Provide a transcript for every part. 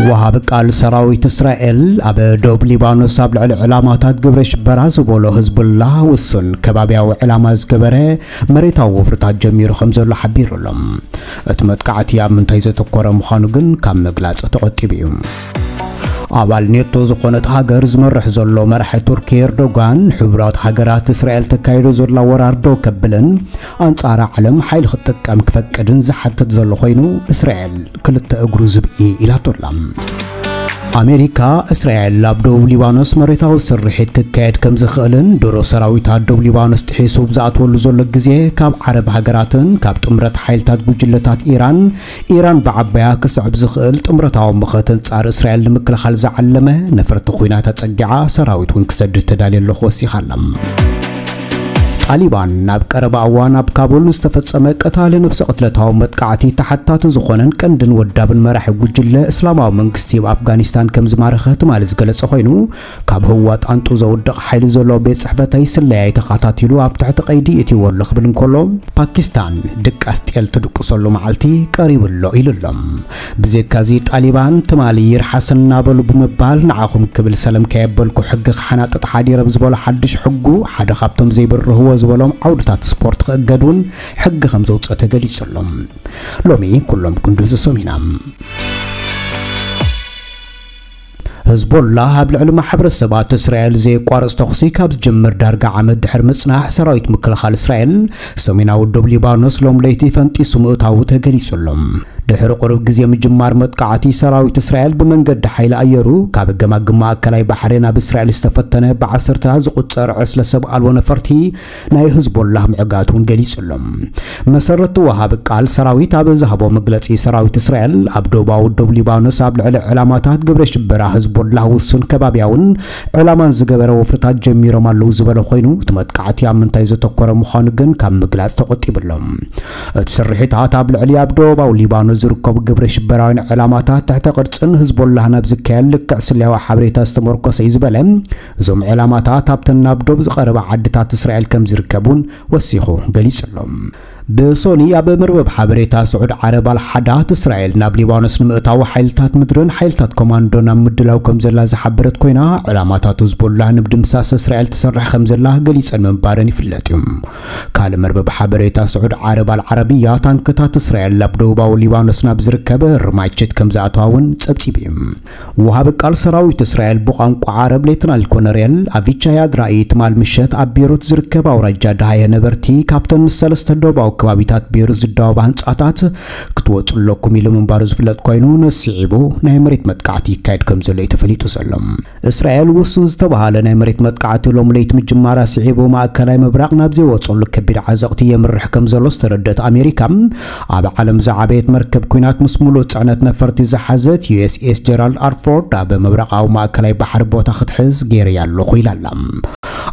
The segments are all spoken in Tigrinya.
ወሃቢ ቃል ሰራዊት እስራኤል ኣብ ደቡብ ሊባኖስ ኣብ ልዕሊ ዕላማታት ግብረ ሽበራ ዝበሎ ህዝቡላህ ውሱን ከባቢያዊ ዕላማ ዝገበረ መሬታዊ ወፍርታት ጀሚሩ ከም ዘሎ ሓቢሩ ኣሎ። እቲ መጥቃዕቲ ኣብ ምንታይ ዘተኮረ ምዃኑ ግን ካብ ምግላጽ ተቖጢቡ እዩ። ኣባል ኔቶ ዝኾነት ሃገር ዝመርሕ ዘሎ መራሒ ቱርኪ ኤርዶጋን፣ ሕቡራት ሃገራት እስራኤል ተካይዶ ዘላ ወራር ደው ከብልን ኣንጻር ዓለም ሓይሊ ክትጥቀም ክፈቅድን ዝሓትት ዘሎ ኮይኑ፣ እስራኤል ክልተ እግሩ ዝብኢ ኢላቶላ። ኣሜሪካ፣ እስራኤል ኣብ ደቡብ ሊባኖስ መሬታዊ ስርሒት ክካየድ ከም ዝኽእልን ድሮ ሰራዊት ኣብ ደቡብ ሊባኖስ ጥሒሱ ብዝኣትወሉ ዘሎ ግዜ ካብ ዓረብ ሃገራትን ካብ ጥምረት ሓይልታት ጉጅለታት ኢራን፣ ኢራን ብዓባያ ክስዕብ ዝኽእል ጥምረታዊ ምኽት ኣንጻር እስራኤል ንምክልኻል ዝዓለመ ነፈርቲ ኲናት ኣጸጊዓ ሰራዊት እውን ክሰድድ ተዳልየ ኣለኹ ወሲኻ ኣላ። ጣሊባን ናብ ቀረባ እዋን ኣብ ካቡል ዝተፈጸመ ቀታሊ ነብሰ ቅትለታዊ መጥቃዕቲ ተሓታቲ ዝኾነን ቀንድን ወዳብን መራሒ ጉጅለ እስላማዊ መንግስቲ ኣብ ኣፍጋኒስታን ከም ዝማረኸ ትማሊ ዝገለጸ ኮይኑ፣ ካብ ህዋ ጣንጡ ዘውድቕ ሓይሊ ዘለዎ ቤት ጽሕፈተይ ስለያይ ተኸታቲሉ ኣብ ትሕቲ ቀይዲ እትይዎ ኣሎ ክብል እንከሎ፣ ፓኪስታን ድቃስ ጤል ትድቅሰሉ መዓልቲ ቀሪቡ ኣሎ ኢሉ ኣሎ። ብዘይካዚ ጣሊባን ትማሊ ይርሓሰና በሉ ብምባል ንዓኹም ክብል ሰለም ከየበልኩ ሕጊ ክሓናጥጥ ሓዲረ ብዝበሎ ሓድሽ ሕጉ ሓደ ካብቶም ዘይብርህዎ ዝበሎም ዓውድታት ስፖርት ክእገድ እውን ሕጊ ከም ዘውፅአ ተገሊጹ ኣሎ። ሎሚ ኩሎም ክንድዚ ሰሚና። ህዝቦላህ ኣብ ልዕሊ ማሕበረሰባት እስራኤል ዘየቋርጽ ተኹሲ ካብ ዝጀምር ዳርጋ ዓመት ድሕሪ ምጽናሕ፣ ሰራዊት ምክልኻል እስራኤል ሰሜናዊ ዶብ ሊባኖስ ሎም ለይቲ ፈንጢሱ ምእታዉ ተገሊጹ ኣሎ። ድሕሪ ቁሩብ ግዜ ምጅማር መጥቃዕቲ፣ ሰራዊት እስራኤል ብመንገዲ ሓይሊ ኣየሩ ካብ ገማግም ማእከላይ ባሕሪ ናብ እስራኤል ዝተፈተነ ብዓሰርታት ዝቑጸር ዕስለ ሰብ ኣልቦ ነፈርቲ ናይ ህዝቦላህ ምዕጋት እውን ገሊጹ ኣሎ። መሰረቲ ወሃቢ ቃል ሰራዊት ኣብ ዝሃቦ መግለጺ፣ ሰራዊት እስራኤል ኣብ ደቡባዊ ዶብ ሊባኖስ ኣብ ልዕሊ ዕላማታት ግብረ ሽበራ ህዝቦላህ ውሱን ከባብያውን ዕላማን ዝገበረ ወፍርታት ጀሚሮም ኣለዉ ዝበለ ኮይኑ፣ እቲ መጥቃዕቲ ኣብ ምንታይ ዘተኮረ ምዃኑ ግን ካብ ምግላጽ ተቆጢቡ ኣሎ። እቲ ስርሒታት ኣብ ልዕሊ ኣብ ደቡባዊ ሊባኖስ ዝርከቡ ግብረ ሽበራውያን ዕላማታት ትሕተ ቅርጽን ህዝቦላህን ኣብ ዝካየድ ልክዕ ስለያዊ ሓበሬታ ዝተመርኮሰ እዩ ዝበለ፣ እዞም ዕላማታት ኣብተን ናብ ዶብ ዝቐረባ ዓድታት እስራኤል ከም ዝርከቡን ወሲኹ ገሊጹ ኣሎ። ብሶኒ ኣብ መርበብ ሓበሬታ ስዑድ ዓረብ ኣልሓዳት፣ እስራኤል ናብ ሊባኖስ ንምእታው ሓይልታት ምድርን ሓይልታት ኮማንዶን ኣብ ምድላው ከም ዘላ ዝሓበረት ኮይና፣ ዕላማታት ህዝቦላህ ንምድምሳስ እስራኤል ትሰርሕ ከም ዘላ ገሊጸን ምንባረን ይፍለጥ እዩ። ካልእ መርበብ ሓበሬታ ስዑድ ዓረብ ኣልዓረብያ፣ ታንክታት እስራኤል ኣብ ደቡባዊ ሊባኖስ ናብ ዝርከብ ርማይችት ከም ዝኣተዋ እውን ጸብጺቡ እዩ። ወሃቢ ቃል ሰራዊት እስራኤል ብቋንቋ ዓረብ ሌተናል ኮነሬል ኣቪቻይ ኣድራኢ ትማል ምሸት ኣብ ቤሩት ዝርከብ ኣውራጃ ደሃየ ነበርቲ ካብተን ምስ ሰለስተ ደቡባዊ ከባቢታት ቤሩት ዝዳወባ ህንጻታት ክትወጹ ኣለኩም ኢሉ ምንባሩ ዝፍለጥ ኮይኑ፣ ነዚ ስዒቡ ናይ መሬት መጥቃዕቲ ይካየድ ከም ዘሎ እዩ ተፈሊጡ ዘሎ። እስራኤል ውሱን ዝተባሃለ ናይ መሬት መጥቃዕቲ ሎም ለይቲ ምጅማራ ስዒቡ ማእከላይ ምብራቕ ናብ ዘይወጸሉ ከቢድ ዓዘቕቲ የምርሕ ከም ዘሎ ዝተረደት ኣሜሪካ፣ ኣብ ዓለም ዝዓበየት መርከብ ኲናት ምስ ሙሉእ ጽዕነት ነፈርቲ ዝሓዘት ዩ ኤስ ኤስ ጀራልድ ኣርፎርድ ኣብ ምብራቓዊ ማእከላይ ባሕሪ ቦታ ክትሕዝ ገይረያ ኣለኹ ኢላ ኣላ።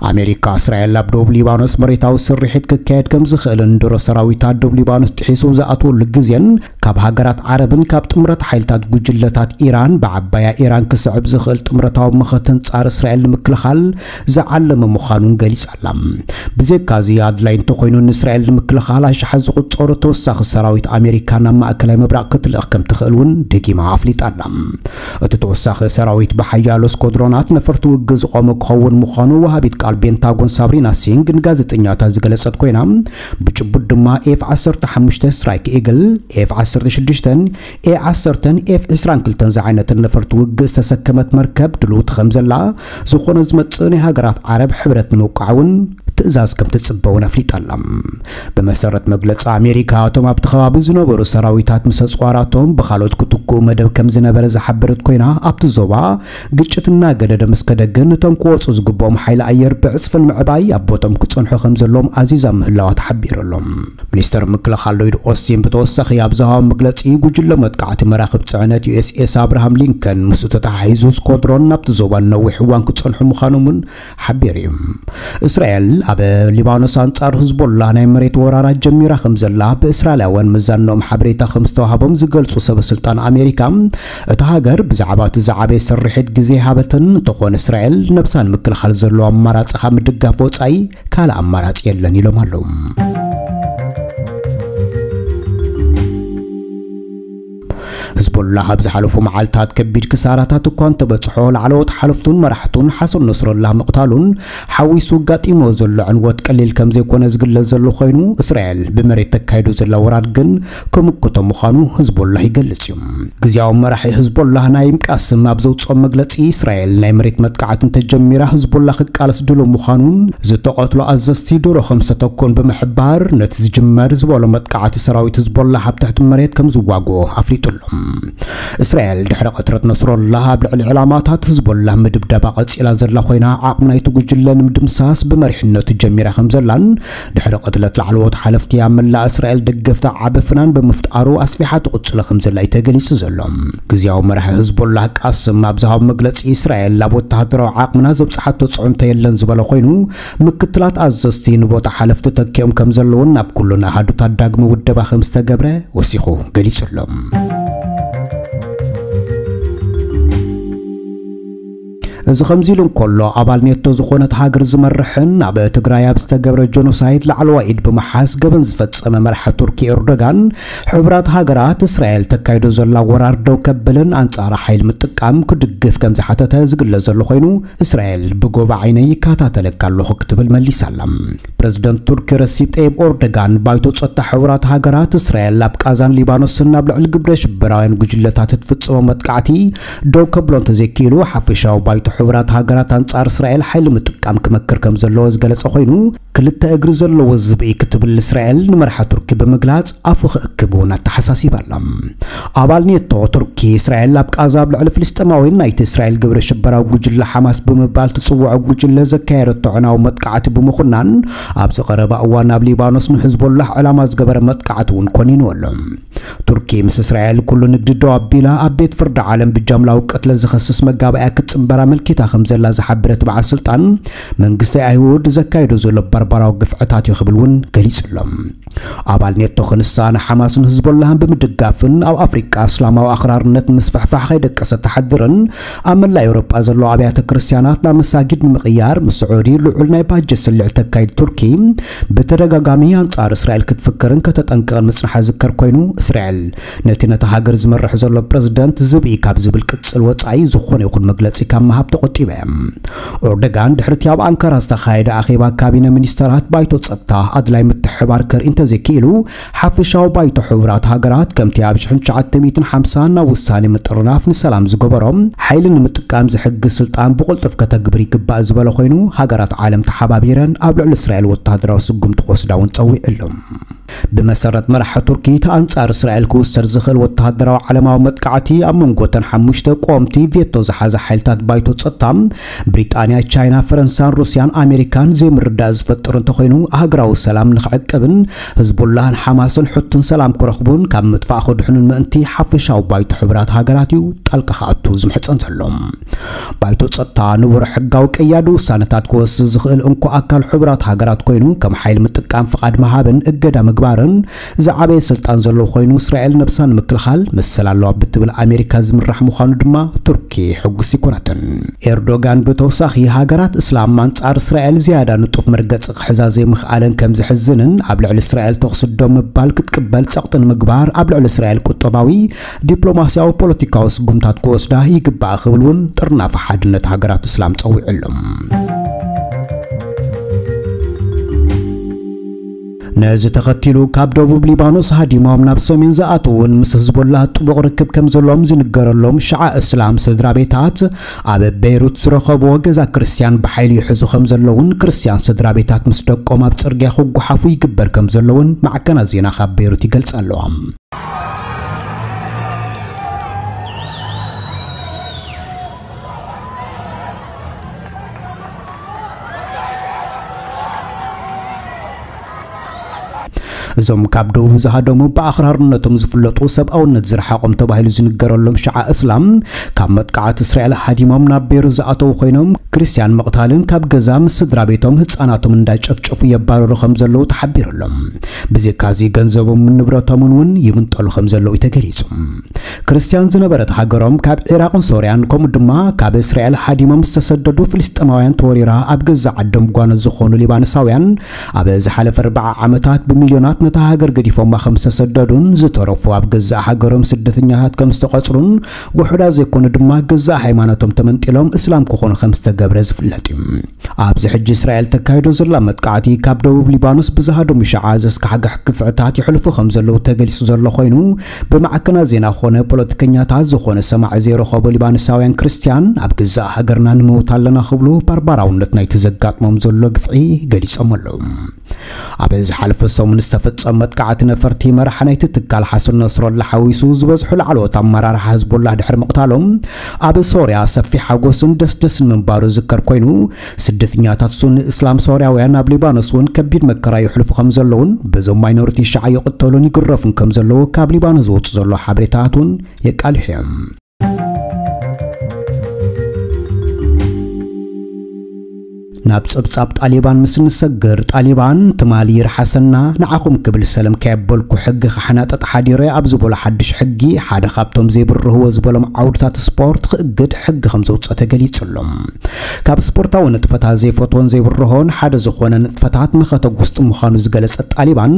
ኣሜሪካ፣ እስራኤል ኣብ ደቡብ ሊባኖስ መሬታዊ ስርሒት ክካየድ ከም ዝኽእልን ድሮ ሰራዊት ኣብ ደቡብ ሊባኖስ ጥሒሱ ዝኣትወሉ ግዜን ካብ ሃገራት ዓረብን ካብ ጥምረት ሓይልታት ጉጅለታት ኢራን ብዓባያ ኢራን ክስዕብ ዝኽእል ጥምረታዊ መኸተ ኣንጻር እስራኤል ንምክልኻል ዝዓለመ ምዃኑን ገሊጻ ኣላ። ብዘይካዚ ኣድላይ እንተኾይኑ ንእስራኤል ንምክልኻል ኣሽሓት ዝቑጸሩ ተወሳኺ ሰራዊት ኣሜሪካ ናብ ማእከላይ ምብራቕ ክትልእኽ ከም ትኽእል እውን ደጊማ ኣፍሊጣ ኣላ። እቲ ተወሳኺ ሰራዊት ብሓያሎ ስኮድሮናት ነፈርቲ ውግእ ዝቖመ ክኸውን ምዃኑ ወሃቢት ቃል ቤንታጎን ሳብሪና ሲንግ ንጋዜጠኛታት ዝገለጸት ኮይና፣ ብጭቡጥ ድማ ኤፍ ዓሰርተ ሓሙሽተ ስትራይክ ኢግል፣ ኤፍ ዓሰርተ ሽዱሽተን፣ ኤ ዓሰርተን ኤፍ ዕስራን ክልተን ዝዓይነተን ነፈርቲ ውግእ ዝተሰከመት መርከብ ድልውቲ ከም ዘላ፣ ዝኾነ ዝመጽእ ናይ ሃገራት ዓረብ ሕብረት ንምውቃዕ እውን ትእዛዝ ከም ትጽበ እውን ኣፍሊጣ ኣላ። ብመሰረት መግለጺ ኣሜሪካ፣ እቶም ኣብቲ ከባቢ ዝነበሩ ሰራዊታት ምስ ኣጽዋራቶም ብኻልኦት ክትክኡ መደብ ከም ዝነበረ ዝሓበረት ኮይና፣ ኣብቲ ዞባ ግጭት እናገደደ ምስ ከደ ግን፣ እቶም ክወጹ ዝግብኦም ሓይሊ ኣየር ብዕጽፍን ምዕባይ ኣብ ቦቶም ክጸንሑ ከም ዘለዎም ኣዚዛ ምህላዋ ተሓቢሩ ኣሎ። ሚኒስተር ምክልኻል ሎይድ ኦስቲን ብተወሳኺ ኣብ ዝሃቦ መግለጺ፣ ጉጅለ መጥቃዕቲ መራኽብ ጽዕነት ዩ ኤስ ኤስ ኣብርሃም ሊንከን ምስኡ ተተሓሒዙ ስኮድሮን ናብቲ ዞባ ንነዊሕ እዋን ክጸንሑ ምዃኖም እውን ሓቢሩ እዩ። እስራኤል ኣብ ሊባኖስ ኣንጻር ህዝቦላ ናይ መሬት ወራራት ጀሚራ ከም ዘላ ብእስራኤላውያን መዛንኦም ሓበሬታ ከም ዝተዋህቦም ዝገልጹ ሰበ ስልጣን ኣሜሪካ፣ እታ ሃገር ብዛዕባ እቲ ዝዓበየ ስርሒት ግዜ ሃበትን እንተኾነ እስራኤል ነብሳ ንምክልኻል ዘለዎ ኣማራጺ ካብ ምድጋፍ ወጻኢ ካልእ ኣማራጺ የለን ኢሎም ኣለዉ። ሂዝቦላህ ኣብ ዝሓለፉ መዓልታት ከቢድ ክሳራታት እኳ እንተበጽሖ፣ ላዕለዎት ሓለፍቱን መራሕቱን ሓሰን ነስረላህ ምቕታሉን ሓዊሱ ኣጋጢሞ ዘሎ ዕንወት ቀሊል ከም ዘይኮነ ዝግለጽ ዘሎ ኮይኑ፣ እስራኤል ብመሬት ተካይዶ ዘላ ወራር ግን ክምክቶ ምዃኑ ሂዝቦላህ ይገልጽ እዩ። ግዝያዊ መራሒ ሂዝቦላህ ናይም ቃስም ኣብ ዘውጽኦ መግለጺ፣ እስራኤል ናይ መሬት መጥቃዕቲ እንተጀሚራ፣ ሂዝቦላህ ክቃለስ ድሉው ምዃኑን ዝተቐትሉ ኣዘዝቲ ዶሮ ከም ዝተተኮን ብምሕባር፣ ነቲ ዝጅመር ዝበሎ መጥቃዕቲ ሰራዊት ሂዝቦላህ ኣብ ትሕቲ መሬት ከም ዝዋግኦ ኣፍሊጡ ኣሎ። እስራኤል ድሕሪ ቅትለት ነስሮላህ ኣብ ልዕሊ ዕላማታት ሂዝቦላህ ምድብዳባ ቀጺላ ዘላ ኮይና፣ ዓቕሚ ናይቲ ጉጅለ ንምድምሳስ ብመሪሕነቱ ጀሚራ ከም ዘላን፣ ድሕሪ ቅትለት ላዕለዎት ሓለፍቲ ኣብ መላእ እስራኤል ደገፍታ ዓቢ ፍናን ብምፍጣሩ ኣስፊሓ ትቕጽሎ ከም ዘላ እዩ ተገሊጹ ዘሎ። ግዝያዊ መራሒ ሂዝቦላህ ቃስም ኣብ ዝሃቦ መግለጺ፣ እስራኤል ኣብ ወተሃደራዊ ዓቕምና ዘብጽሓቶ ጽዕንቶ የለን ዝበለ ኮይኑ፣ ምክትላት ኣዘዝቲ ንቦታ ሓለፍቲ ተኪኦም ከም ዘለውን ናብ ኩሉን ኣሃዱታት ዳግመ ውደባ ከም ዝተገብረ ወሲኹ ገሊጹ ኣሎ። እዚ ከምዚ ኢሉ እንከሎ፣ ኣባል ኔቶ ዝኾነት ሃገር ዝመርሕን ኣብ ትግራይ ኣብ ዝተገብረ ጀኖሳይድ ላዕለዋይ ኢድ ብምሓዝ ገበን ዝፈጸመ መራሒ ቱርኪ ኤርዶጋን፣ ሕቡራት ሃገራት እስራኤል ተካይዶ ዘላ ወራር ደው ከብልን ኣንጻር ሓይሊ ምጥቃም ክድግፍ ከም ዝሓተተ ዝግለጽ ዘሎ ኮይኑ፣ እስራኤል ብጎባ ዓይነይ ይከታተለካ ኣለኹ ክትብል መሊሳ ኣላ። ፕረዚደንት ቱርኪ ረሲፕ ጠይብ ኤርዶጋን፣ ባይቶ ጸጥታ ሕቡራት ሃገራት እስራኤል ኣብ ቃዛን ሊባኖስን ኣብ ልዕሊ ግብረ ሽበራውያን ጉጅለታት እትፍጽሞ መጥቃዕቲ ደው ከብሎ እንተዘይክኢሉ፣ ሓፈሻዊ ባይቶ ሕቡራት ሃገራት ኣንጻር እስራኤል ሓይሊ ምጥቃም ክመክር ከም ዘለዎ ዝገለጸ ኮይኑ፣ ክልተ እግሪ ዘለዎ ዝብኢ ክትብል እስራኤል ንመርሓ ቱርኪ ብምግላጽ ኣፉ ክእክብ እውን ኣተሓሳሲባ ኣላ። ኣባል ኔቶ ቱርኪ፣ እስራኤል ኣብ ቃዛ ኣብ ልዕሊ ፍልስጤማውያን ናይቲ እስራኤል ግብረ ሽበራዊ ጉጅለ ሓማስ ብምባል ትጽውዖ ጉጅለ ዘካየደቶ ዕናዊ መጥቃዕቲ ብምኹናን፣ ኣብዚ ቀረባ እዋን ኣብ ሊባኖስ ንሕዝቦላህ ዕላማ ዝገበረ መጥቃዕቲ እውን ኮኒኑ ኣሎ። ቱርኪ ምስ እስራኤል ኩሉ ንግዲ ደው ኣቢላ፣ ኣብ ቤት ፍርዲ ዓለም ብጃምላዊ ቅትለት ዝኸስስ መጋባእያ ክትጽንበር ኣመልኪታ ከም ዘላ ዝሓበረ እቲ በዓል ስልጣን፣ መንግስቲ ኣይሁድ ዘካይዶ ዘሎ ባርባራዊ ግፍዕታት እዩ ክብል እውን ገሊጹ ኣሎ። ኣባል ኔቶ ክንሳ ንሓማስን ህዝቦላህን ብምድጋፍን ኣብ ኣፍሪቃ እስላማዊ ኣኽራርነት ምስፍሕፋሕ ከይደቀሰ ተሓድርን ኣብ መላእ ኤውሮጳ ዘለዉ ኣብያተ ክርስትያናት ናብ መሳጊድ ንምቕያር ምስ ስዑዲ ልዑል ናይ ባጀት ስልዒ ተካይድ ቱርኪ ብተደጋጋሚ ኣንጻር እስራኤል ክትፍክርን ከተጠንቅቕን ምጽንሓ ዝከር ኮይኑ፣ እስራኤል ነቲ ነታ ሃገር ዝመርሕ ዘሎ ፕረዚደንት ዝብኢ ካብ ዝብል ቅጽል ወጻኢ ዝኾነ ይኹን መግለጺ ካብ ምሃብ ተቖጢባ እያ። ኦርደጋን ድሕሪቲ ኣብ ኣንካራ ዝተኻየደ ኣኼባ ካቢነ ሚኒስተራት ባይቶ ጸጥታ ኣድላይ ምትሕባር ከርኢ እንተዘይክኢሉ፣ ሓፈሻዊ ባይቶ ሕቡራት ሃገራት ከምቲ ኣብ ሽሕን ትሽዓተ ሚእትን ሓምሳን ናብ ውሳኔ ምጥርናፍ ንሰላም ዝገበሮ ሓይሊ ንምጥቃም ዝሕግዝ ስልጣን ብቕልጡፍ ከተግብር ይግባእ ዝበለ ኮይኑ፣ ሃገራት ዓለም ተሓባቢረን ኣብ ልዕሊ እስራኤል ወተሃደራዊ ስጉምቲ ክወስዳ እውን ጸዊዑ ኣሎ። ብመሰረት መራሒ ቱርኪ፣ እቲ ኣንጻር እስራኤል ክውሰድ ዝኽእል ወተሃደራዊ ዓለማዊ መጥቃዕቲ ኣብ መንጎ እተን ሓሙሽተ ቀወምቲ ቬቶ ዝሓዛ ሓይልታት ባይቶ ጸጥታ፣ ብሪጣንያ፣ ቻይና፣ ፈረንሳን ሩስያን ኣሜሪካን ዘይምርዳእ ዝፈጥር እንተኾይኑ፣ ሃገራዊ ሰላም ንኽዕቅብን ህዝቡላህን ሓማስን ሕቱን ሰላም ክረኽቡን ካብ ምጥፋእ ክድሕኑን ምእንቲ ሓፈሻዊ ባይቶ ሕቡራት ሃገራት እዩ ጣልቃ ክኣቱ ዝምሕጸን ዘሎ። ባይቶ ጸጥታ ንቡር ሕጋዊ ቀያዲ ውሳነታት ክወስድ ዝኽእል እንኮ ኣካል ሕቡራት ሃገራት ኮይኑ፣ ከም ሓይሊ ምጥቃም ፍቓድ ምሃብን እገዳ ምግባርን ዝዓበየ ስልጣን ዘለዎ ኮይኑ፣ እስራኤል ነብሳ ንምክልኻል መሰል ኣለዋ ብትብል ኣሜሪካ ዝምራሕ ምዃኑ ድማ ቱርኪ ሕጉስ ይኮነትን። ኤርዶጋን ብተወሳኺ፣ ሃገራት እስላም ኣንጻር እስራኤል ዝያዳ ንጡፍ መርገጺ ክሕዛ ዘይምኽኣለን ከም ዘሕዝንን፣ ኣብ ልዕሊ እስራኤል ተኹሲ ደው ምባል ክትቅበል ጸቕጢ ንምግባር፣ ኣብ ልዕሊ እስራኤል ቁጠባዊ፣ ዲፕሎማስያዊ፣ ፖለቲካዊ ስጉምታት ክወስዳ ይግባእ ክብል እውን ጥርናፈ ሓድነት ሃገራት እስላም ጸዊዑ ኣሎ። ነዚ ተኸቲሉ ካብ ደቡብ ሊባኖስ ሃዲሞም ናብ ሰሜን ዝኣተዉን ምስ ህዝቦላህ ጥቡቕ ርክብ ከም ዘለዎም ዝንገረሎም ሽዓ እስላም ስድራ ቤታት ኣብ ቤይሩት ዝረኸብዎ ገዛ ክርስትያን ብሓይሊ ይሕዙ ከም ዘለውን ክርስትያን ስድራ ቤታት ምስ ደቆም ኣብ ጽርግያ ክጓሓፉ ይግበር ከም ዘለውን ማዕከናት ዜና ካብ ቤይሩት ይገልጻ ኣለዋ። እዞም ካብ ደቡብ ዝሃደሙ ብኣኽራርነቶም ዝፍለጡ ሰብኣውነት ዝረሓቖም ተባሂሉ ዝንገረሎም ሽዓ እስላም ካብ መጥቃዕቲ እስራኤል ሃዲሞም ናብ ቤይሩት ዝኣተዉ ኮይኖም ክርስትያን ምቕታልን ካብ ገዛ ምስ ስድራ ቤቶም ህፃናቶም እንዳጨፍጨፉ የባረሩ ከም ዘለዉ ተሓቢሩ ኣሎ። ብዘይካዚ ገንዘቦምን ንብረቶምን እውን ይምንጠሉ ከም ዘለዉ እዩ ተገሊጹ። ክርስትያን ዝነበረት ሃገሮም ካብ ዒራቕን ሶርያን ከምኡ ድማ ካብ እስራኤል ሃዲሞም ዝተሰደዱ ፍልስጤማውያን ተወሪራ ኣብ ገዛ ዓዶም ጓኖት ዝኾኑ ሊባኖሳውያን ኣብ ዝሓለፈ ኣርብዓ ዓመታት ብሚልዮናት ነታ ሃገር ገዲፎማ ከም ዝተሰደዱን ዝተረፉ ኣብ ገዛእ ሃገሮም ስደተኛታት ከም ዝተቐጽሩን ውሑዳት ዘይኮኑ ድማ ገዛእ ሃይማኖቶም ተመንጢሎም እስላም ክኾኑ ከም ዝተገብረ ዝፍለጥ እዩ። ኣብዚ ሕጂ እስራኤል ተካይዶ ዘላ መጥቃዕቲ ካብ ደቡብ ሊባኖስ ብዝሃደሙ ሸዓ ዘስካሕግሕ ግፍዕታት ይሕልፉ ከም ዘለዉ ተገሊጹ ዘሎ ኮይኑ፣ ብማዕከናት ዜና ኾነ ፖለቲከኛታት ዝኾነ ሰማዒ ዘይረኸቡ ሊባኖሳውያን ክርስትያን ኣብ ገዛእ ሃገርና ንመውት ኣለና ክብሉ ባርባራውነት ናይቲ ዘጋጥሞም ዘሎ ግፍዒ ገሊጾም ኣለዉ። ኣብ ዝሓለፈ ሰሙን ዝተፈጸመ መጥቃዕቲ ነፈርቲ መራሒ ናይቲ ትካል ሓሰን ነስረላ ሓዊሱ ዝበዝሑ ላዕለዎት ኣመራርሓ ህዝቦላህ ድሕሪ ምቕታሎም፣ ኣብ ሶርያ ሰፊሕ ሓጎስን ደስደስን ምንባሩ ዝከር ኮይኑ፣ ስደተኛታት ሱኒ እስላም ሶርያውያን ኣብ ሊባኖስ እውን ከቢድ መከራ ይሕልፉ ከም ዘለውን በዞም ማይኖሪቲ ሸዓ ይቕተሉን ይግረፉን ከም ዘለዉ ካብ ሊባኖስ ዝወፁ ዘሎ ሓበሬታታት እውን የቃልሑ እዮም። ናብ ጸብጻብ ጣሊባን ምስ ንሰግር፣ ጣሊባን ትማሊ ይርሓሰና ንዓኹም ክብል ሰለም ከየበልኩ ሕጊ ክሓናጠጥ ሓዲረ ኣብ ዝበሎ ሓድሽ ሕጊ፣ ሓደ ካብቶም ዘይብርህዎ ዝበሎም ዓውድታት ስፖርት ክእግድ ሕጊ ከም ዘውጸ ተገሊጹ ኣሎ። ካብ ስፖርታዊ ንጥፈታት ዘይፈትዎን ዘይብርሆን ሓደ ዝኾነ ንጥፈታት መኸተ ጉስጢ ምዃኑ ዝገለጸ ጣሊባን፣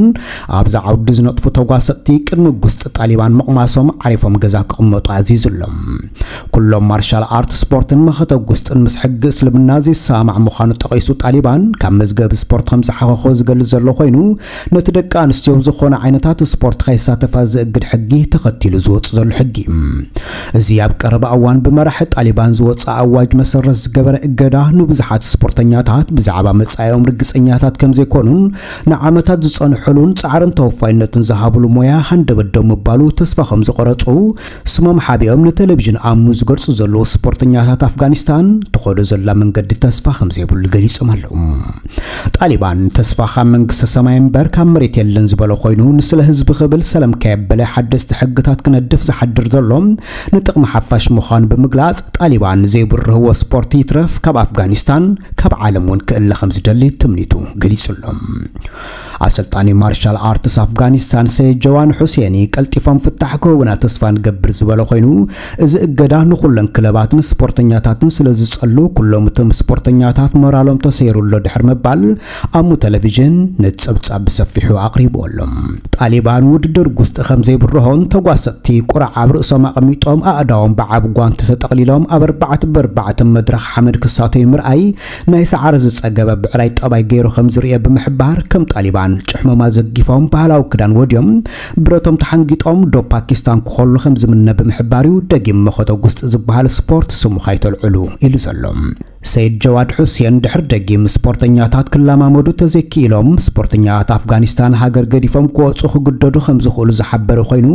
ኣብዚ ዓውዲ ዝነጥፉ ተጓሰጥቲ ቅድሚ ጉስጢ ጣሊባን ምቕማሶም ዓሪፎም ገዛ ክቕመጡ ኣዚዙ ኣሎ። ኩሎም ማርሻል ኣርት ስፖርትን መኸተ ጉስጥን ምስ ሕጊ እስልምና ዘይሰማማዕ ምዃኑ ጠቒሱ ጣሊባን፣ ካብ መዝገብ ስፖርት ከም ዝሓኸኾ ዝገልጽ ዘሎ ኮይኑ፣ ነቲ ደቂ ኣንስትዮ ዝኾነ ዓይነታት ስፖርት ከይሳተፋ ዘእግድ ሕጊ ተኸቲሉ ዝወጽእ ዘሎ ሕጊ እዩ። እዚ ኣብ ቀረባ እዋን ብመራሒ ጣሊባን ዝወጽእ ኣዋጅ መሰረት ዝገበረ እገዳ ንብዙሓት ስፖርተኛታት ብዛዕባ መጻኢኦም ርግጸኛታት ከም ዘይኮኑን ንዓመታት ዝጸንሑሉን ጻዕርን ተወፋይነትን ዝሃብሉ ሞያ ሃንደበት ደው ምባሉ ተስፋ ከም ዝቖረጹ ስሞም ሓቢኦም ንቴሌቪዥን ኣምኑ ዝገልጹ ዘለዉ ስፖርተኛታት ኣፍጋኒስታን ትኸዶ ዘላ መንገዲ ተስፋ ከም ዘይብሉ ገሊጾም ኣለዉ። ጣሊባን ተስፋ ካብ መንግስተ ሰማይ እምበር ካብ መሬት የለን ዝበለ ኮይኑ፣ ንስለ ህዝቢ ክብል ሰለም ከየበለ ሓደስቲ ሕግታት ክነድፍ ዝሓድር ዘሎ ንጥቕሚ ሓፋሽ ምዃኑ ብምግላጽ፣ ጣሊባን ዘይብርህዎ ስፖርት ይትረፍ ካብ ኣፍጋኒስታን ካብ ዓለም እውን ክእለ ከም ዝደሊ ትምኒቱ ገሊጹ ኣሎ። ኣሰልጣኒ ማርሻል ኣርትስ ኣፍጋኒስታን ሰይድ ጀዋን ሑሴኒ ቀልጢፎም ፍታሕ ክህቡና ተስፋ ንገብር ዝበለ ኮይኑ፣ እዚ እገዳ ንኹለን ክለባትን ስፖርተኛታትን ስለ ዝጸሉ ኩሎም እቶም ስፖርተኛታት ሞራሎም ተሰይሩ ኣሎ ድሕሪ ምባል ኣሙ ቴሌቪዥን ነቲ ጸብጻብ ብሰፊሑ ኣቕሪቡ ኣሎ። ጣሊባን ውድድር ጉስጢ ከም ዘይብርሆን ተጓሰጥቲ ቁራዕ ኣብ ርእሶም ኣቐሚጦም ኣእዳዎም ብዓቢ ጓንቲ ተጠቕሊሎም ኣብ ኣርባዕተ ብኣርባዕተ መድረኽ ሓመድ ክሳተዩ ምርኣይ ናይ ሰዓረ ዝጸገበ ብዕራይ ጠባይ ገይሩ ከም ዝርእዮ ብምሕባር፣ ከም ጣሊባን ጭሕሞማ ዘጊፎም ባህላዊ ክዳን ወድዮም ብረቶም ተሓንጊጦም ዶብ ፓኪስታን ክኸሉ ከም ዝምነ ብምሕባር እዩ ደጊም መኸተ ጉስጢ ዝበሃል ስፖርት ስሙ ካይተልዕሉ ኢሉ ዘሎ። ሰይድ ጀዋድ ሑሴን ድሕሪ ደጊም ስፖርተኛታት ክለማመዱ ተዘይክኢሎም ስፖርተኛታት ኣፍጋኒስታን ሃገር ገዲፎም ክወጹ ክግደዱ ከም ዝኽእሉ ዝሓበረ ኮይኑ፣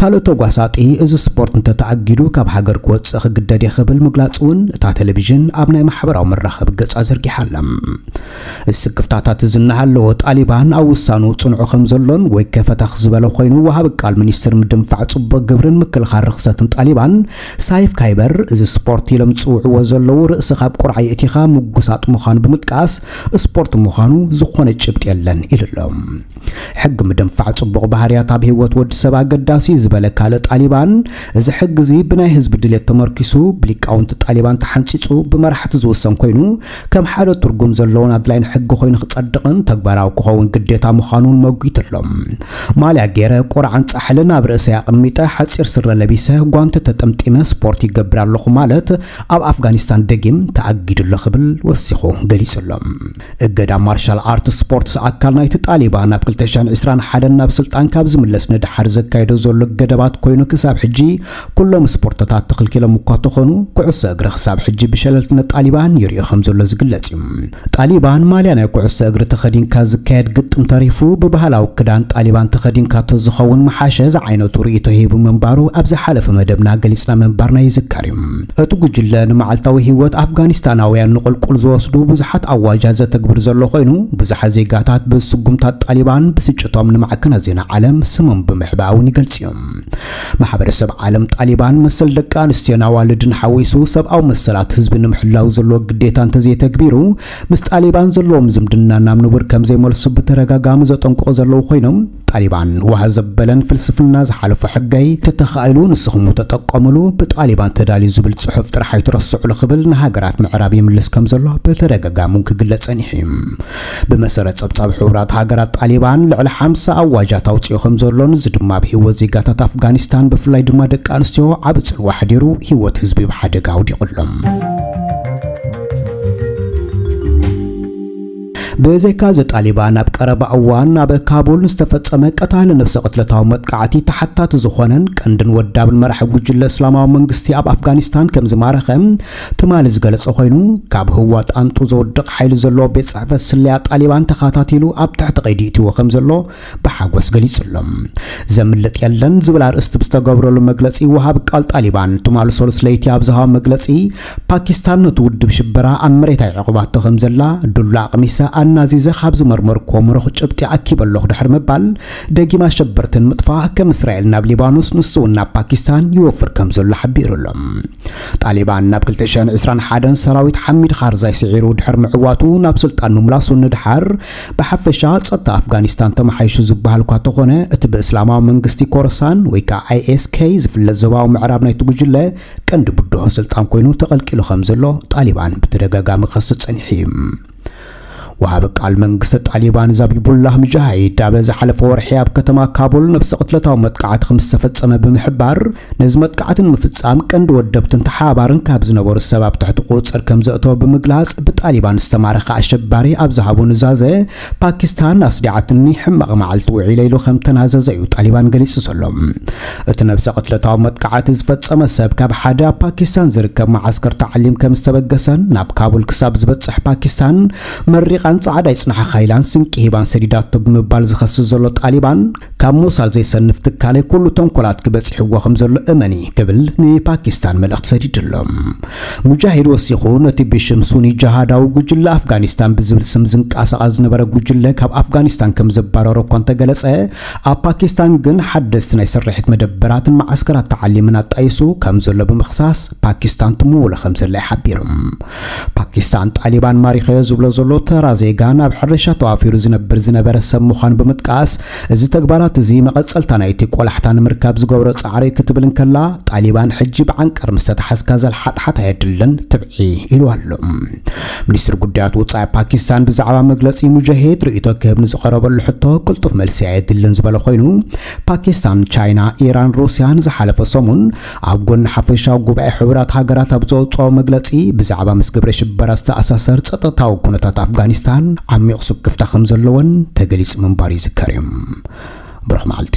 ካልእ ተጓሳጢ እዚ ስፖርት እንተተኣጊዱ ካብ ሃገር ክወጽእ ክግደድ እየ ክብል ምግላጹ እውን እታ ቴሌቪዥን ኣብ ናይ ማሕበራዊ መራኸቢ ገጻ ዘርጊሓ ኣላ። ስክፍታታት እዚ እናሃለወ ጣሊባን ኣብ ውሳኑ ጽንዑ ከም ዘሎን ወይ ከፈተኽ ዝበለ ኮይኑ፣ ወሃቢ ቃል ሚኒስትር ምድንፋዕ ጽቡቕ ግብርን ምክልኻል ርኽሰትን ጣሊባን ሳይፍ ካይበር፣ እዚ ስፖርት ኢሎም ዝጽውዕዎ ዘለዉ ርእሲ ካብ ቁርዓ የእቲኻ ምጉሳጥ ምዃኑ ብምጥቃስ፣ ስፖርት ምዃኑ ዝኾነ ጭብጢ የለን ኢሉ ኣሎ። ሕጊ ምድንፋዕ ጽቡቕ ባህርያት ኣብ ህይወት ወዲ ሰብ ኣገዳሲ እዩ ዝበለ ካልእ ጣሊባን፣ እዚ ሕጊ እዚ ብናይ ህዝቢ ድሌት ተመርኪሱ ብሊቃውንቲ ጣሊባን ተሓንጺጹ ብመራሕቲ ዝውሰን ኮይኑ፣ ከም ሓደ ትርጉም ዘለዎን ኣድላይን ሕጊ ኮይኑ ክጸድቕን ተግባራዊ ክኸውን ግዴታ ምዃኑን መጒቱ ኣሎ። ማልያ ገይረ፣ ቁርዓን ጻሕልን ኣብ ርእሰይ ኣቐሚጠ፣ ሓጺር ስረ ለቢሰ፣ ጓንቲ ተጠምጢመ ስፖርት ይገብር ኣለኹ ማለት ኣብ ኣፍጋኒስታን ደጊም ተኣጊዱ ኣሎ ክብል ወሲኹ ገሊጹ ኣሎ። እገዳ ማርሻል ኣርት ስፖርትስ ኣካል ናይቲ ጣሊባን ኣብ ክልተ ሽሕን ዕስራን ሓደን ናብ ስልጣን ካብ ዝምለስ ንደሓር ዘካየዶ ዘሎ ገደባት ኮይኑ ክሳብ ሕጂ ኩሎም ስፖርትታት ተኽልኪሎም እኳ ተኾኑ፣ ኩዕሶ እግሪ ክሳብ ሕጂ ብሸለልትነት ጣሊባን ይርእዮ ከም ዘሎ ዝግለጽ እዩ። ጣሊባን ማልያ ናይ ኩዕሶ እግሪ ተኸዲንካ ዝካየድ ግጥም ተሪፉ ብባህላዊ ክዳን ጣሊባን ተኸዲንካ ተዝኸውን ምሓሸ ዝዓይነቱ ርእይቶ ሂቡ ምንባሩ ኣብ ዝሓለፈ መደብና ገሊጽና ምንባርና ይዝከር እዩ። እቲ ጉጅለ ንመዓልታዊ ህይወት ኣፍጋኒስታናውያን ንቁልቁል ዝወስዱ ብዙሓት ኣዋጃት ዘተግብር ዘሎ ኮይኑ፣ ብዙሓት ዜጋታት ብስጉምታት ጣሊባን ብስጭቶም ንማዕከናት ዜና ዓለም ስሞም ብምሕባእ እውን ይገልጽ እዮም። ማሕበረሰብ ዓለም ጣሊባን መሰል ደቂ ኣንስትዮን ኣዋልድን ሓዊሱ ሰብኣዊ መሰላት ህዝቢ ንምሕላው ዘለዎ ግዴታ እንተዘይተግቢሩ፣ ምስ ጣሊባን ዘለዎም ዝምድና ናብ ንቡር ከም ዘይመልሱ ብተደጋጋሚ ዘጠንቅቑ ዘለዉ ኮይኖም፣ ጣሊባን ዋህ ዘበለን ፍልስፍና ዝሓለፎ ሕገይ፣ ተተኻኢሉ ንስኹም ተጠቀሙሉ፣ ብጣሊባን ተዳልዩ ዝብል ጽሑፍ ጥራሕ ኣይትረስዑሉ ክብል ንሃገራት ምዕራብ ይምልስ ከም ዘሎ ብተደጋጋሚ ክግለጽ ጸኒሑ እዩ። ብመሰረት ጸብጻብ ሕቡራት ሃገራት፣ ጣሊባን ልዕሊ ሓምሳ ኣዋጃት ኣውጺኡ ከም ዘሎን፣ እዚ ድማ ኣብ ህይወት ዜጋታት ኣፍጋኒስታን፣ ብፍላይ ድማ ደቂ ኣንስትዮ ዓቢ ጽልዋ ሓዲሩ፣ ህይወት ህዝቢ ኣብ ሓደጋ ኣውዲቑሎም። ብዘይካ እዚ፣ ጣሊባን ኣብ ቀረባ እዋን ኣብ ካቡል ዝተፈጸመ ቀታሊ ነብሰ ቅትለታዊ መጥቃዕቲ ተሓታቲ ዝኾነን ቀንድን ወዳብን መራሒ ጉጅለ እስላማዊ መንግስቲ ኣብ ኣፍጋኒስታን ከም ዝማረኸ ትማሊ ዝገለጸ ኮይኑ፣ ካብ ህዋ ጣንጡ ዘውድቕ ሓይሊ ዘለዎ ቤት ጽሕፈት ስለያ ጣሊባን ተኸታቲሉ ኣብ ትሕቲ ቀይዲ እትዎ ከም ዘሎ ብሓጎስ ገሊጹ ኣሎ። ዘምልጥ የለን ዝብል ኣርእስቲ ብዝተገብረሉ መግለጺ፣ ወሃቢ ቃል ጣሊባን ትማሊ ሰሉስ ለይቲ ኣብ ዝሃቦ መግለጺ፣ ፓኪስታን ነቲ ውድብ ሽበራ ኣብ መሬት ኣይዕቑባቶ ከም ዘላ፣ ዱላ ኣቕሚሰ ኣናዚዘ ካብ ዝመርመርኩዎ ምሩኽ ጭብጢ ኣኪበ ኣለኹ ድሕሪ ምባል፣ ደጊም ኣሸበርቲ ንምጥፋእ ከም እስራኤል ናብ ሊባኖስ፣ ንሱ እውን ናብ ፓኪስታን ይወፍር ከም ዘሎ ሓቢሩ ኣሎ። ጣሊባን ናብ ክልተ ሽሕን ዕስራን ሓደን ሰራዊት ሓሚድ ካርዛይ ስዒሩ ድሕሪ ምዕዋቱ ናብ ስልጣን ምምላሱ ንድሓር፣ ብሓፈሻ ጸጥታ ኣፍጋኒስታን ተመሓይሹ ዝበሃል እኳ ተኾነ፣ እቲ ብእስላማዊ መንግስቲ ኮረሳን ወይ ከዓ ኣይኤስኬ ዝፍለጥ ዞባዊ ምዕራብ ናይቲ ጉጅለ ቀንዲ ብድሆ ስልጣን ኮይኑ ተቐልቂሉ ከም ዘሎ ጣሊባን ብተደጋጋሚ ክኸስስ ጸኒሑ እዩ። ወሃቢ ቃል መንግስቲ ጣሊባን ዛቢቡላህ ሙጃሂድ ኣብ ዝሓለፈ ወርሒ ኣብ ከተማ ካቡል ነብሰ ቅትለታዊ መጥቃዕቲ ከም ዝተፈጸመ ብምሕባር፣ ነዚ መጥቃዕቲ ንምፍጻም ቀንዲ ወደብትን ተሓባባርን ካብ ዝነበሩ ሰብ ኣብ ትሕቲ ቁጽር ከም ዘእተወ ብምግላጽ፣ ብጣሊባን ዝተማረኸ ኣሸባሪ ኣብ ዝሃቦ ኑዛዘ፣ ፓኪስታን ኣስዲዓትኒ፣ ሕማቕ መዓልቲ ውዒለ ኢሉ ከም ተናዘዘ እዩ ጣሊባን ገሊጹ ዘሎ። እቲ ነብሰ ቅትለታዊ መጥቃዕቲ ዝፈጸመ ሰብ ካብ ሓደ ኣብ ፓኪስታን ዝርከብ መዓስከር ተዓሊም ከም ዝተበገሰን፣ ናብ ካቡል ክሳብ ዝበጽሕ ፓኪስታን መሪቓን ጻዕዳ ይጽናሓኻ ኢላን ስንቂ ሂባን ሰዲዳቶ ብምባል ዝኸስስ ዘሎ ጣሊባን፣ ካብ ሞሳድ ዘይሰንፍ ትካለይ ኩሉ ተንኮላት ክበጽሕዎ ከም ዘሎ እመኒ ክብል ንፓኪስታን መልእኽቲ ሰዲዱ ኣሎ። ሙጃሂድ ወሲኹ፣ ነቲ ብሽም ሱኒ ጅሃዳዊ ጉጅለ ኣፍጋኒስታን ብዝብል ስም ዝንቀሳቐስ ዝነበረ ጉጅለ ካብ ኣፍጋኒስታን ከም ዘባረሮ እኳ እንተገለጸ፣ ኣብ ፓኪስታን ግን ሓደስቲ ናይ ስርሒት መደበራትን መዓስከራት ተዓሊምን ኣጣይሱ ከም ዘሎ ብምኽሳስ፣ ፓኪስታን ትምውሎ ከም ዘላ እዩ ሓቢሩ። ፓኪስታን ጣሊባን ማሪኸዮ ዝብሎ ዘሎ ተራ ዜጋ ናብ ሕርሻ ተዋፊሩ ዝነብር ዝነበረ ሰብ ምዃኑ ብምጥቃስ፣ እዚ ተግባራት እዚ መቐጸልታ ናይቲ ቆላሕታ ንምርካብ ዝገብሮ ጻዕሪ ክትብል እንከላ፣ ጣሊባን ሕጂ ብዓንቀር ምስ ተታሓዝካ ዘልሓጥሓት ኣየድልን ትብዒ ኢሉ ኣሎ። ሚኒስትሪ ጉዳያት ወጻኢ ፓኪስታን ብዛዕባ መግለጺ ሙጃሂድ ርእይቶ ክህብ ንዝቐረበሉ ሕቶ ቅልጡፍ መልሲ ኣየድልን ዝበለ ኮይኑ፣ ፓኪስታን፣ ቻይና፣ ኢራን፣ ሩስያን ዝሓለፈ ሰሙን ኣብ ጎኒ ሓፈሻዊ ጉባኤ ሕቡራት ሃገራት ኣብ ዘውፅኦ መግለፂ፣ ብዛዕባ ምስ ግብረ ሽበራ ዝተኣሳሰር ጸጥታዊ ኩነታት ኣፍጋኒስታን ዓሚቕ ስክፍታ ከም ዘለወን ተገሊጹ ምንባሩ ይዝከር እዩ። ብሩኽ መዓልቲ።